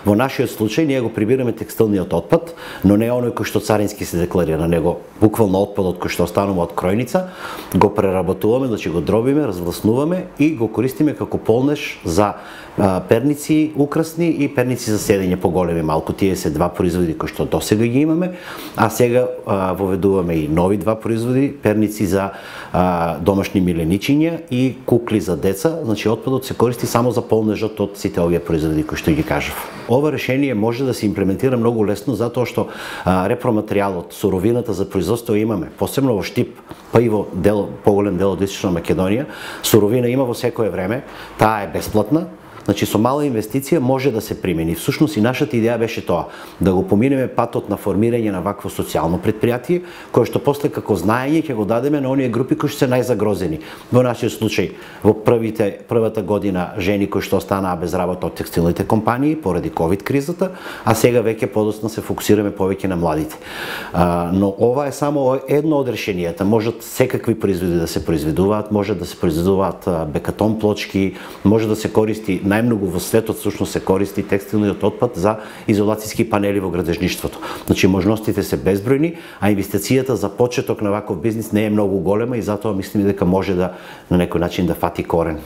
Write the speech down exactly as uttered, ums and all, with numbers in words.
Во нашиот случај ние го прибираме текстилниот отпад, но не оној кој што царински се декларира, него буквално отпадот кој што останува од кројница, го преработуваме, значи го дробиме, развласнуваме и го користиме како полнеж за а, перници украсни и перници за седење поголеми малку. Тие се два производи кои што досега ги имаме, а сега а, воведуваме и нови два производи, перници за а, домашни миленичиња и кукли за деца. Значи отпадот се користи само за полнежот од сите овие производи кои што ги кажав. Ова решение може да се имплементира многу лесно затоа што а, репроматеријалот, суровината за производство имаме, посебно во Штип, па и во дел, поголем дел од Источна Македонија, суровина има во секое време, таа е бесплатна. Значи со мала инвестиција може да се примени. Всушност и нашата идеја беше тоа, да го поминеме патот на формирање на вакво социјално претпријатие, кое што после како знаење ќе го дадеме на оние групи кои што се најзагрозени. Во нашиот случај, во првите првата година жени кои што останаа без работа од текстилните компании поради ковид кризата, а сега веќе подоцна се фокусираме повеќе на младите. А, но ова е само едно од решенијата. Можат секакви производи да се произведуваат, може да се произведуваат бекатон плочки, може да се користи најмногу во светот всушност се користи текстилниот отпад за изолацијски панели во градежништвото. Значи можностите се безбројни, а инвестицијата за почеток на ваков бизнис не е многу голема и затоа мислиме дека може да на некој начин да фати корен.